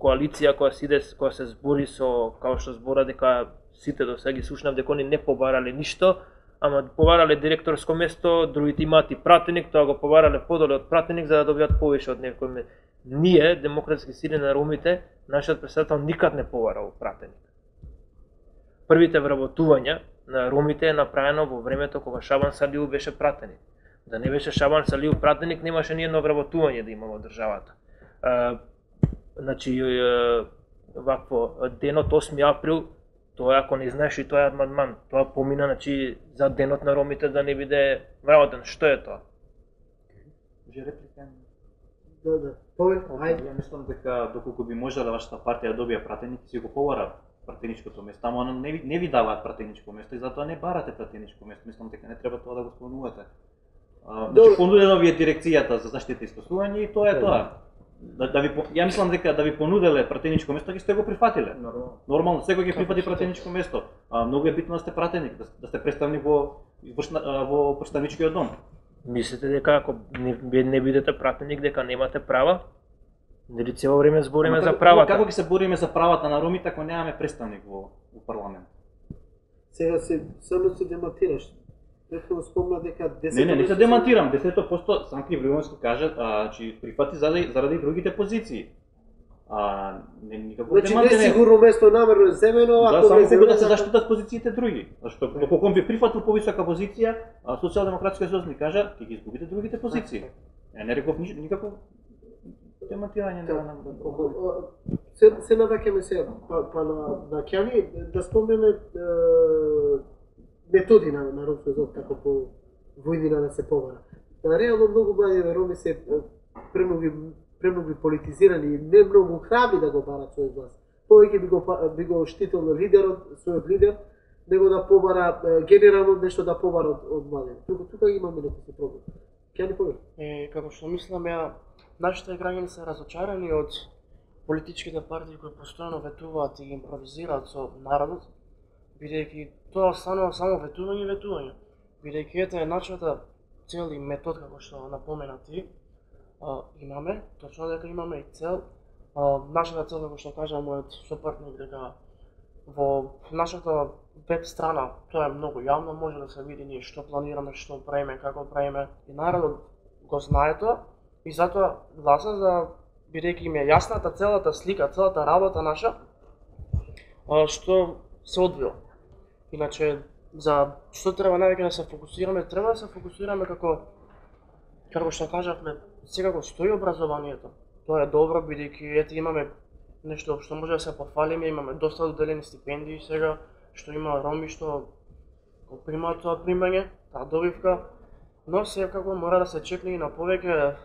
коалиција која се збори со, као што збора дека сите до сега ги слушнав дека они не побарале ништо, ама побарале директорско место, другите имаат и пратеник, тоа го побарале подоле од пратеник за да добијат повеќе од некој. Ние, демократски сили на ромите, нашиот претседател никад не побарал пратеник. Првите вработувања на ромите е направено во времето кога Шабан Салиу беше пратеник. Да не беше Шабан Салиу пратеник, немаше ни едно вработување да има во државата. Значи, вакво, денот 8 април, тоа ако не знаеш и тоа е амандман, тоа помина, значи, за денот на ромите да не биде вработен. Што е тоа? Може реплика? Да. Ајде. Ја мислам дека доколку би можела вашата партија да добија пратеник, си го побара пратеничкото место, ама не ви даваат пратеничко место и затоа не барате пратеничко место. Мислам дека не треба тоа да го спомнувате. Значи, понудено ви е дирекцијата за заштита и спасување и тоа е тоа. Ја мислам дека да ви понуделе пратеничко место, ќе сте го прифатиле. Нормално, секој ќе прифати пратеничко место. Многу е битно да сте пратеник, да сте представник во представничкиот дом. Мислите дека ако не бидете пратеник, дека немате права? Нели цело време збориме за правата? Како ќе се бориме за правата на ромите ако немаме представник во парламент? Сега само се демонтираш. Претходно спомна дека 10%... Не се демонтирам. 10% Санки Ивановски кажа, че прифати заради другите позиции. Никако значи не сигурно место намерно е земено, ако само како да се заштитат позициите други. Зашто доколку ви прифатил повисока позиција, Социјалдемократскиот сојуз ни кажа ќе ги изгубите другите позиции. Не реков никако демонтирање на се наваќаме се па на Кјани да спомнеме методи на ромскиот зод како по војнина да се побара. Реално многу млади роми се премногу политизирани и не многу храбри да го барат својот глас. Повеќе би го штитил на лидерот, својот лидер, него да побара генерално нешто да побара од млади. Тука имаме некој проблем. Ќе ни повеќе? Како што мислам ја, нашите граѓани се разочарани од политичките партии кои постојано ветуваат и импровизираат со народот, бидејќи тоа останува само ветување. Бидејќи ете нашата цел и метод, како што напомена ти, имаме, точно дека имаме и цел. Нашата цел, како што кажа мојот сопартник, дека во нашата веб страна, тоа е многу јавно, може да се види ние што планираме, што правиме, како правиме, и народот го знае тоа, и затоа гласа за, бидејќи им е јасната целата слика, целата работа наша, што се одвива. Иначе, за што треба највеќе да се фокусираме? Треба да се фокусираме како што кажавме, секако стои образованието. Тоа е добро, бидејќи ете имаме нешто што може да се пофалиме, имаме доста доделени стипендии сега, што има роми што го примаат тоа примање, таа добивка, но секако мора да се чекне и на повеќе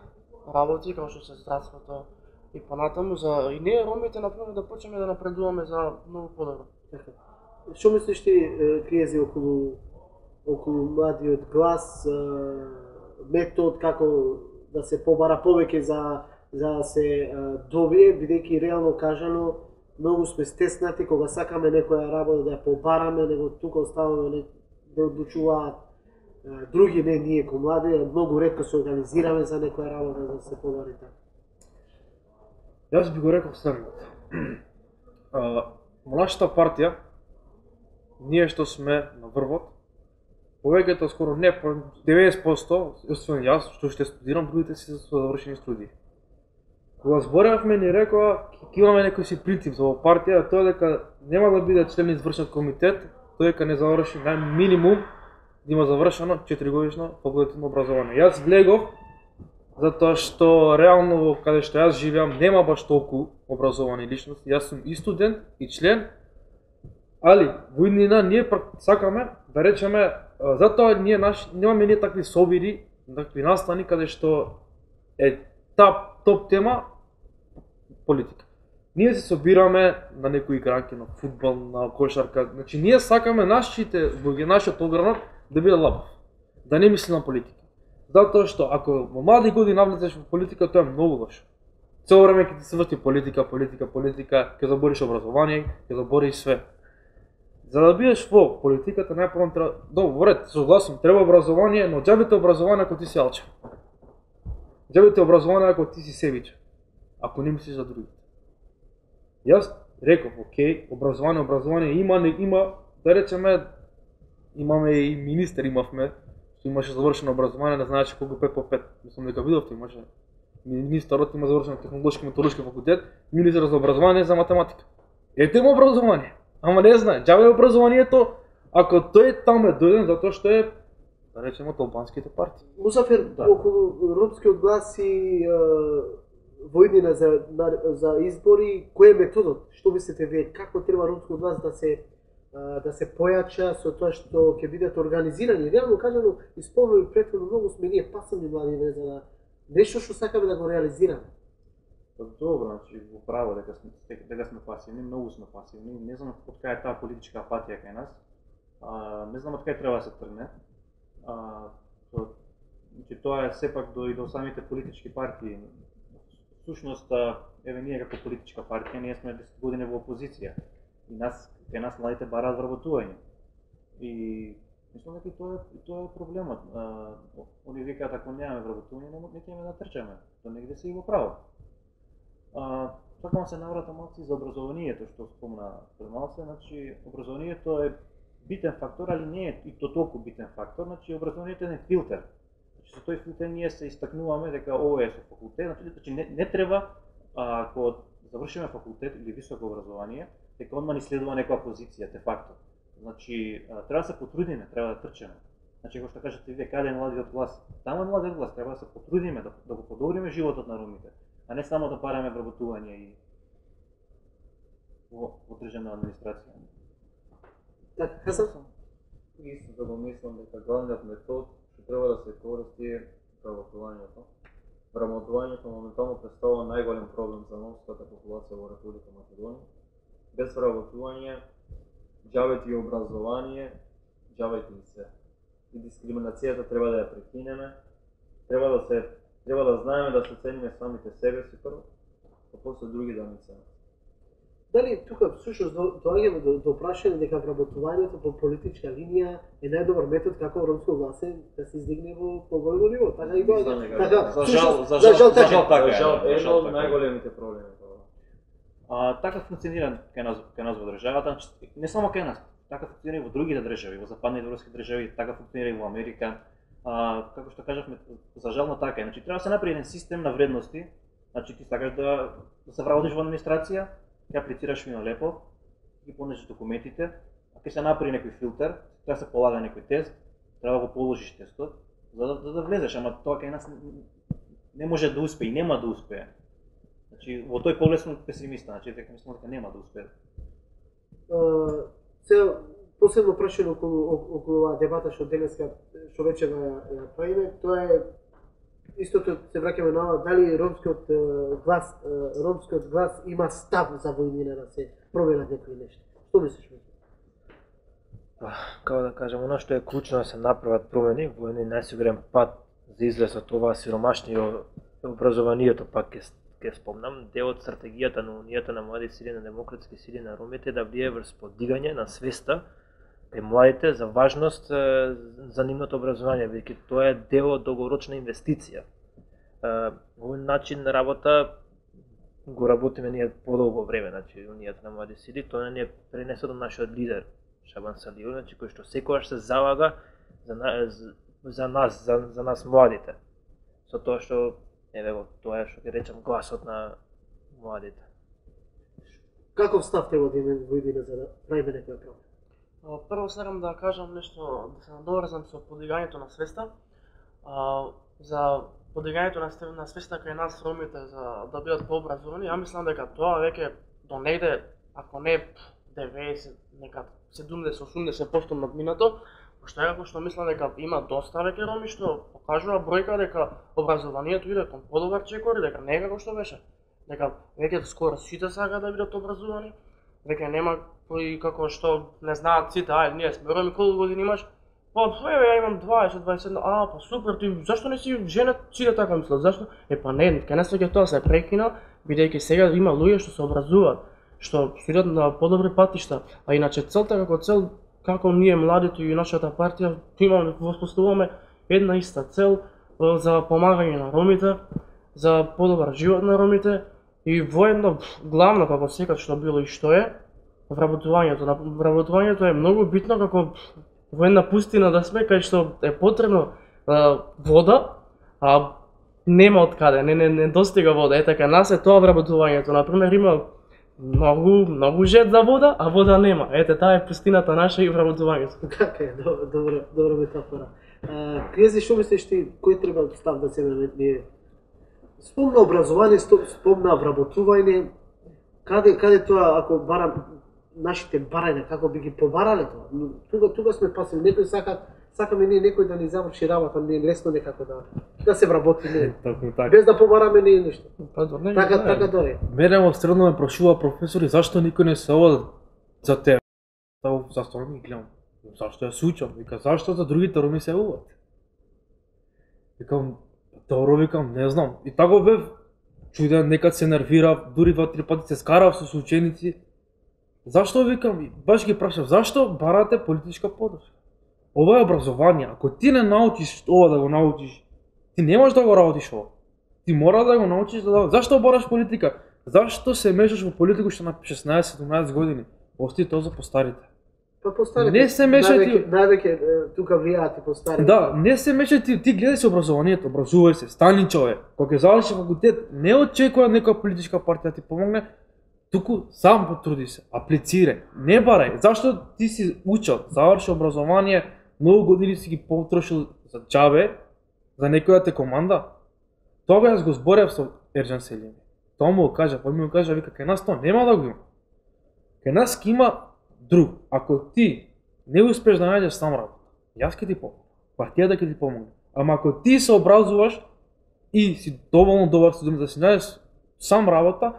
работи, како што се здравството и понатаму, и ние ромите например да почнеме да напредуваме за многу подобро. Што мислиш ти, Криези, околу младиот глас, метод како да се побара повеќе за да се добие, бидејќи реално кажано многу сме стеснати кога сакаме некоја работа да ја побараме, него тука оставаме да одлучуваат други, не ние ко млади, многу ретко се организираме за некоја работа да се побари така. Јас би го рекол следното. Во нашата партија, ние што сме на врвот, повеќето скоро не 90%, освен јас, што ще студирам, другите си за завршени студии. кога зборевме ни рекоа ќе имаме некој си принцип за оваа партија, тоа дека нема да биде член извршен комитет, тој дека не заврши најминимум да има завршено 4-годишно факултетно образование. Јас влегов затоа што реално каде што јас живеам нема баш толку образовани личности. Јас сум и студент и член, али во иднина ние сакаме да речеме затоа немаме ние такви собири, такви настани каде што е топ тема политика. Ние се собираме на некои играњки на фудбал, на кошарка. Значи ние сакаме нашите нашиот огранок да биде лабав, да не мисли на политика. Затоа што ако во млади години навлезеш во политика, тоа е многу лошо. Цело време ќе ти се врти политика, ќе забориш образование, ќе забориш све. За да бидеш во политиката најпрво треба, добро, согласувам, треба образование, но џабите образование ако ти си алчен. Џабите образование ако ти си себичен, ако не мислиш за другите. Јас реков, окей, образование има, да речеме, имаме и министер имавме, што имаше завршено образование, не знаеше колку 5 по 5. Мислам дека видовте, имаше министерот има завршено технолошки металуршки факултет, министер за образование за математика. Ете му образование, ама не знае, џабе образованието, ако тој таму е дојден затоа што е, да речеме, од албанските партии. Мусафир, околу ромскиот глас и војнина за избори, кој е методот? Што мислите вие, како треба ромскиот глас да се појача со тоа што ќе бидат организирани? Реално кажано, исполнени претходно многу сме ние пасивни млади за нешто што сакаме да го реализираме. Добро, значи во право дека сме пасивни, многу сме пасивни. Не знам од кај е таа политичка апатија кај нас. Не знам од кај треба да се тргне. Значи тоа е сепак до самите политички партии. Всушност, еве ние како политичка партија, ние сме 10 години во опозиција. И кај нас младите бараат вработување. И мислам дека тоа е проблемот. Они викаат ако немаме вработување, не ќе да трчаме. Тоа негде се и во право. Сакам се наврата малку за образованието што спомна пред малку, значи образованието е битен фактор, али не е и то толку битен фактор, значи образованието е филтер. Значи со тој филтер ние се истакнуваме дека ова е со факултет, значи не треба ако завршиме факултет или високо образование, дека одма ни следува некоја позиција, де факто. Значи треба да се потрудиме, треба да трчеме. Значи како што кажете вие, каде е младиот глас? Таму е младиот глас, треба да се потрудиме да го подобриме животот на ромите, а не само да бараме вработување и во државна администрација. Така, казам? Исто да го мислам дека главниот метод што треба да се користи е вработувањето. Вработувањето моментално представува најголем проблем за ромската популација во Република Македонија. Без вработување, џабе и образование, џабе и се. И дискриминацијата треба да ја прекинеме. Треба да знаеме да се цениме самите себе си прво, а после други да не ценат. Дали тука всушност доаѓаме до прашање дека вработувањето по политичка линија е најдобар метод како ромско гласе да се издигне во поголемо ниво? Така и доаѓа. За жал така е. Едно од најголемите проблеми тоа. Така функционира кај нас во државата, не само кај нас, така функционира и во другите држави, во западните европски држави, така функционира и во Америка. Како што кажавме, за жално така е. Значи треба да се направи еден систем на вредности. Значи ти сакаш да се вработиш во администрација, ќе аплицираш фино лепо, ќе понесеш документите, а ќе се направи некој филтер, треба да се полага некој тест, треба да го положиш тестот, за да влезеш, ама тоа кај нас не може да успее и нема да успее. Значи во тој поглед сум песимиста, значи дека мислам дека нема да успее. Сега последно прашање околу оваа дебата што денеска што вече ја правиме, тоа е истото се враќаме на ова, дали ромскиот глас има став за војнина да се променат некои нешта. Што мислиш? Како да кажам, она што е клучно да се направат промени, во еден најсигурен пат за излез од ова сиромашни образованието, пак ќе спомнам, дел од стратегијата на Унијата на млади сили, на демократски сили на ромите да влие врз подигање на свеста кај младите за важност за нивното образование, бидејќи тоа е дел од долгорочна инвестиција. Овој начин на работа го работиме ние подолго време, значи Унијата на млади сили, тоа не е пренесено од нашиот лидер Шабан Садиев, значи кој што секогаш се залага за нас младите. Со тоа што еве го тоа е што ќе речам гласот на младите. Каков став треба да имаме во идеја за да правиме некоја промена? Прво сакам да кажам нешто, да се надоврзам со подигањето на свеста. За подигањето на свеста кај нас ромите за да бидат пообразовани, ја мислам дека тоа веќе до негде, ако не 90, нека 70-80% надминато, пошто е како што мислам дека има доста веќе роми што покажува бројка дека образованието иде кон подобар чекор и дека не е како што беше. Дека веќе скоро сите сакаат да бидат образовани, веќе нема кои како што не знаат сите, ние сме роми, колку години имаш? Па, еве, ја имам 20-21, па супер, ти зашто не си женет? Сите така мислат, зашто? Па не, кај нас веќе тоа се прекина, бидејќи сега има луѓе што се образуваат, што идат на подобри патишта, а иначе целта како цел, како ние младите и нашата партија имаме, воспоставуваме една иста цел за помагање на ромите, за подобар живот на ромите и воедно главно како секогаш што било и што е вработувањето. Вработувањето е многу битно како во една пустина да сме кај што е потребно вода, а нема од каде, не достига вода. Така нас е тоа вработувањето. Например има многу жет за вода, а вода нема. Таа е пустината наша и вработувањето. Така е, добра метафора. Криези, што мислиш ти, кој треба став да земеме ние? Спомна образование, спомна вработување, каде тоа, ако барам нашите барања, како би ги побарале тоа? Тука сме пасиви, некој сакаме ние некој да ни заврши работа, не лесно некако да се вработи ние. Без да побараме ние ништо. Така дори. Мене во средно ме прашува професори зашто никој не се оди за тебе. Зашто ми гледам? Зашто ја сучам? Вика, зашто за другите роми се уват? Викам, добро, викам, не знам. И тако бев чуден, некад се нервирав, дури 2-3 пати се скарав со ученици. Зашто, викам, баш ги прашав, зашто барате политичка подршка? Ова е образование, ако ти не научиш ова да го научиш, ти не можеш да го работиш ова. Ти мора да го научиш Зашто бараш политика? Зашто се мешаш во политика што на 16-17 години? Ости тоа за постарите. Па постарите, не се мешај ти. Највеќе тука влијаат и постарите. Да, не се мешај ти гледај се образованието, образувај се, стани човек. Кога ќе завршиш факултет, не очекувај некоја политичка партија ти помогне, туку сам потруди се, аплицирај, не барај. Зашто ти си учел, заврши образование, многу години си ги потрошил за џабе, за некоја те команда? Тога јас го зборев со Ерџан Селими. Тоа му го кажа, па ми го кажа, вика, кај нас тоа нема да го има. Кај нас ќе има друг. Ако ти не успеш да најдеш сам работа, јас ќе ти помогнам, партијата ќе ти помогне. Ама ако ти се образуваш и си доволно добар студент да си најдеш сам работа,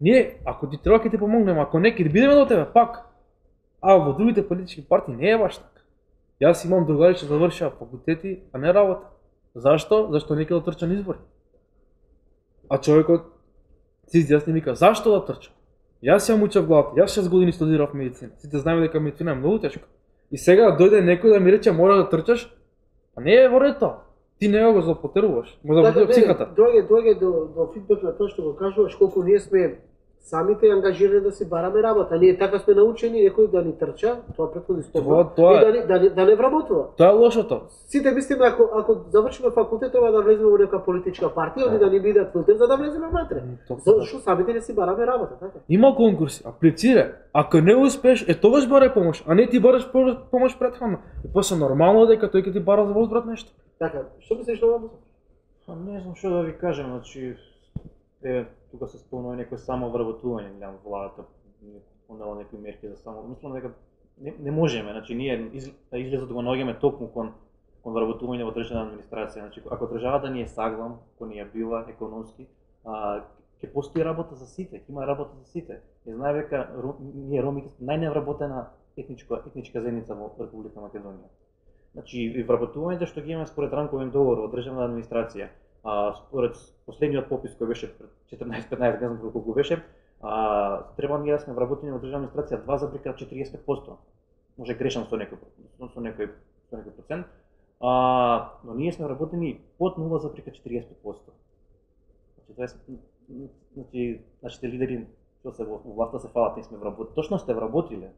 ние, ако ти треба ќе ти помогнеме, ако не, ќе бидеме до тебе пак. А во другите политички партии не е баш така. Јас имам другари што завршија факултети, а не работа. Зашто? Зашто не ќе да трча на избори. А човекот се изјасни и вика, зашто да трча? Јас ја учев главата, јас 6 години студирав медицина. Сите знаеме дека медицина е многу тешко. И сега да дојде некој да ми рече мора да трчаш, а не е во ред тоа. Ти не го злоупотребуваш, го злоупотребуваш психата. Доаѓа до фидбек на тоа што го кажуваш, колку ние сме самите ангажирани да си бараме работа. Ние така сме научени некој да ни трча, тоа претходни стопа, и да не вработува. Тоа е лошото. Сите мислиме ако завршиме факултет треба да влеземе во нека политичка партија или да ни бидат филтер за да влеземе внатре. Зашто самите не си бараме работа, така? Има конкурси, аплицирај. Ако не успеш, тогаш барај помош, а не ти бараш помош претходно. И после нормално дека тој ќе ти бара за возврат нешто. Така, што мислиш на ова? Не знам што да ви кажам, значи тука се спомнува некој само вработување, гледам владата, понела некои мерки за само. Мислам дека не можеме, значи ние излезот го наоѓаме токму кон вработување во државна администрација. Значи ако државата ни е саглам, ако ни е била економски, ќе постои работа за сите, ќе има работа за сите. Не знае дека ние ромите најневработена етничка заедница во Република Македонија. Значи и вработувањето што ги имаме според рамковен договор во државна администрација, според последниот попис кој беше пред 14-15, не знам колку беше, треба ние да сме вработени во државна администрација 2,40%. Може грешам со некој процент, но ние сме вработени под 0,40%. Значи нашите лидери што се во власта се фалат, ние сме вработени. Точно сте вработиле,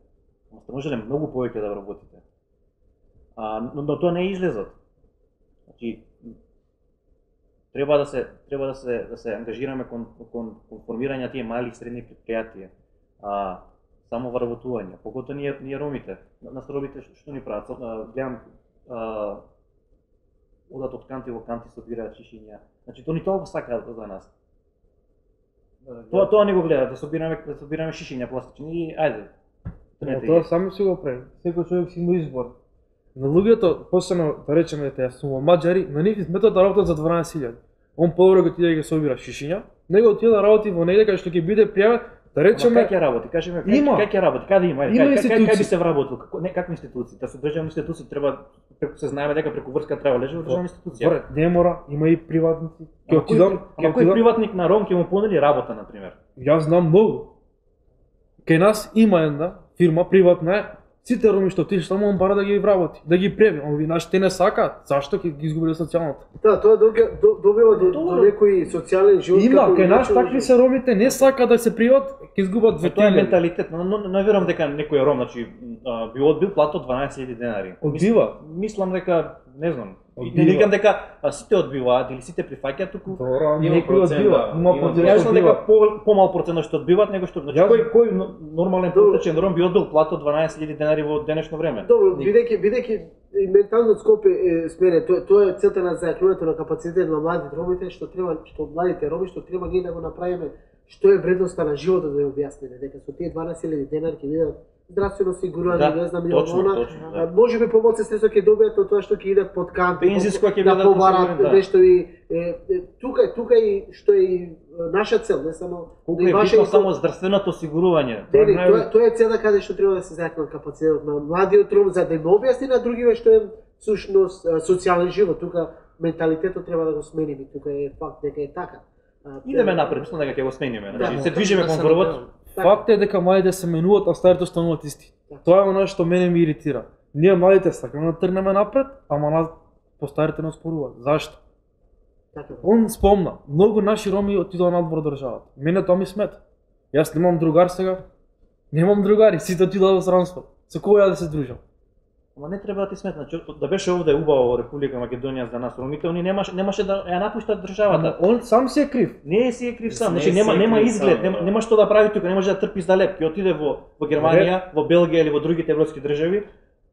но сте можеле многу повеќе да вработите. Но тоа не е излезот. Значи Треба да се ангажираме кон формирање на тие мали и средни предпријатија. Само вработување, погото ние ромите, нас ромите што ни прават, гледам одат од канти во канти собираат шишиња. Значи тоа ни толку сакаат за нас. Тоа не го гледаат, да собираме шишиња пластични и ајде. Тоа само си го прави. Секој човек си има избор. На луѓето, посебно да речеме тие сум маđари, на нив сметат да работат за 12.000. Он подобро го отиде да ги собира шишиња, него отиде да работи во негде кај што ќе биде пријавен. Да речеме, кај ќе работи? Кажи ме, кај ќе работи? Каде има? Кај би се вработил? Какви институции? Да се државни институции треба, се знаеме дека преку врска треба лежи во државна институција. Не мора, има и приватници. Ама кој приватник на Ром ќе му понуди работа, на пример? Јас знам многу. Кај нас има една фирма приватна, сите роми што отишли таму он бара да ги вработи, да ги преви. Он ви нашите не сакаат. Зашто ќе ги изгубиле социјалната? Да, тоа добива до некој социјален живот. Има, кај нас такви се ромите, не сака да се приват, ќе изгубат две. Тоа е менталитет, но не верувам дека некој ром, значи би одбил плата од 12.000 денари. Одбива. Мислам дека, не знам, не викам дека сите одбиваат или сите прифаќаат, туку некој одбива. Има Јас дека помал процент што одбиваат него што, значи кој нормален протечен ром би одбил плата од 12.000 денари во денешно време. Добро, бидејќи менталниот скоп е сменен, тоа е целта на зајакнувањето на капацитет на младите ромите, што младите роми што треба ние да го направиме, што е вредноста на животот да ја објасниме, дека со тие 12.000 денари ќе видат здравствено осигурување, не знам, можеби помалку средства ќе добијат од тоа што ќе идат под канти, да побарат нешто и тука и што е и наша цел, не само и ваша само здравственото осигурување. Тоа е целта каде што треба да се зајакнат капацитетот на младиот ром за да им објасни на другиве што е сушност социјален живот. Тука менталитетот треба да го смениме, тука е факт дека е така. Идеме напред, мислам дека ќе го смениме. Значи се движиме кон врвот. Факт е дека младите се менуваат, а старите остануваат исти. Тоа е она што мене ми иритира. Ние младите сакаме да тргнеме напред, ама нас постарите не споруваат. Зашто? Он спомна, многу наши роми отидоа надвор државата. Мене тоа ми смета. Јас немам другар сега. Немам другари, сите отидоа во странство. Со кој ја да се дружам? Ама не треба да ти сметна, да беше овде убаво во Република Македонија за нас ромите, они немаше да ја напуштат државата. Он сам си е крив. Не си е крив сам, значи нема изглед, нема што да прави тука, не може да трпи за леп. Ќе отиде во Германија, во Белгија или во другите европски држави,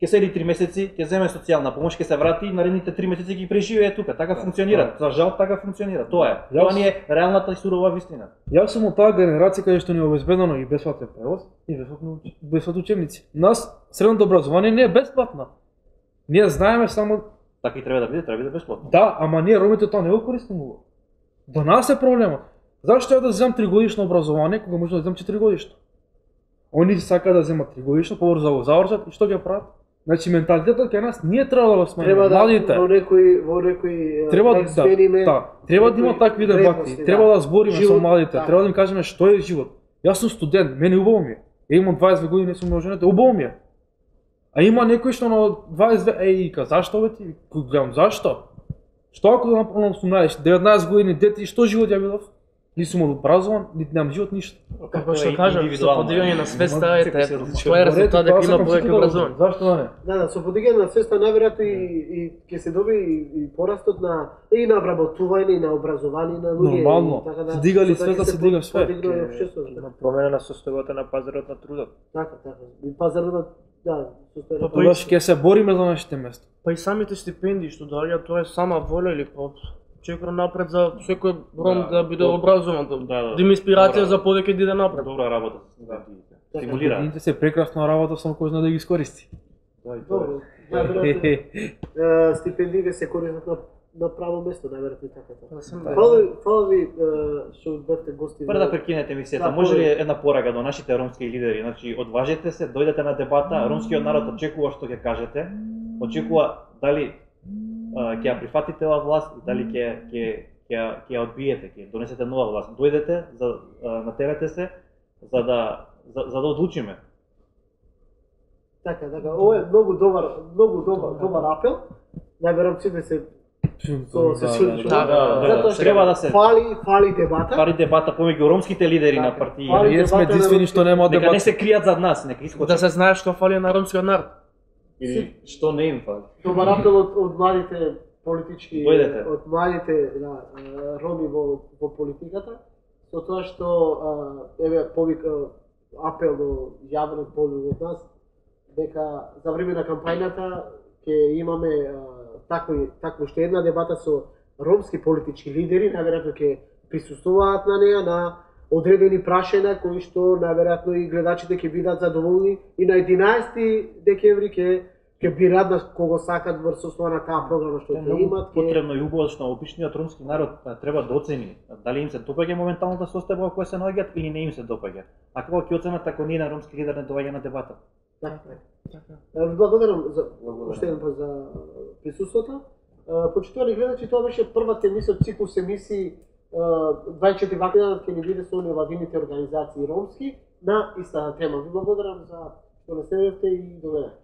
ќе седи 3 месеци, ќе земе социјална помош, ќе се врати и наредните 3 месеци ги преживее тука. Така функционира. За жал така функционира. Тоа е. Тоа ни е реалната и сурова вистина. Јас сум од таа генерација каде што ни е обезбедено и бесплатен превоз и бесплатни учебници. Нас средното образование не е бесплатно. Ние знаеме само така и треба да биде бесплатно. Да, ама ние ромите тоа не го користиме. До нас е проблемот. Зашто ја да земам 3-годишно образование кога може да земам 4-годишно? Они сака да земат 3-годишно, побрзо да го завршат и што ќе прават? Значи менталитетот кај нас ние треба да го смениме. Младите во некој треба да има такви дебати. Треба да збориме со младите, треба да им кажеме што е живот. Јас сум студент, мене убаво ми е. Имам 22 години, не сум ноженете, убаво ми е. А има некој што на 22 ка зашто бе ти? Гледам зашто? Што ако да направам 18, 19 години дете и што живот ја видов? Ни сум образован, нити немам живот ништо. Како што кажам, со подигање на свеста тоа е резултат дека има повеќе образование. Зашто да не? Да, со подигање на свеста најверојатно и ќе се доби и порастот на вработување и на образование на луѓе. Нормално. Се дигали свеста, се дига све. Промена на состојбата на пазарот на трудот. Така. И пазарот на Тоа ќе се бориме за нашите места. Па и самите стипендии што доаѓаат, тоа е сама воља или чекор напред за секој ром да биде образован, да има инспирација за повеќе да иде напред. Добра работа. Стимулира. Стипендиите се прекрасна работа, само кој знае да ги искористи. Добро. Стипендиите се користат на право место, најверојатно така. Фала ви што бевте гости. Пред да прекинете емисијата, може ли една порака до нашите ромски лидери? Значи, одважете се, дојдете на дебата, ромскиот народ очекува што ќе кажете, очекува дали ќе ја прифатите оваа власт и дали ќе ја одбиете, ќе донесете нова власт. Дојдете, натерате се за да одлучиме. Така, ова е многу добар апел. Најверојатно сите се треба да се фали дебата. Фали дебата помеѓу ромските лидери на партии. Ние сме единствени што нема дебата. Нека не се кријат зад нас, нека искочат. Да се знае што фали на ромскиот народ. Или што не им фали. Добар апел од младите политички Дојдете. од младите роми во политиката, со тоа што еве апел до јавен полу од нас дека за време на кампањата ќе имаме таква уште една дебата со ромски политички лидери, најверојатно ќе присуствуваат на неа на одредени прашања кои што најверојатно и гледачите ќе бидат задоволни и на 11 декември ќе бират на кого сакат врз основа на таа програма што ќе имат. Потребно и убаво што обичниот ромски народ треба да оцени дали им се допаѓа моменталната состојба во која се наоѓаат или не им се допаѓа. А како ќе оценат ако ни еден ромски лидер не доаѓа на дебата? Ви благодарам за уште еден пат за присуството. Почитувани гледачи, тоа беше првата емисија од циклус емисии 24 вакина ќе ни биде со невладините организации ромски на истата тема. Ви благодарам за што не следевте и до гледање.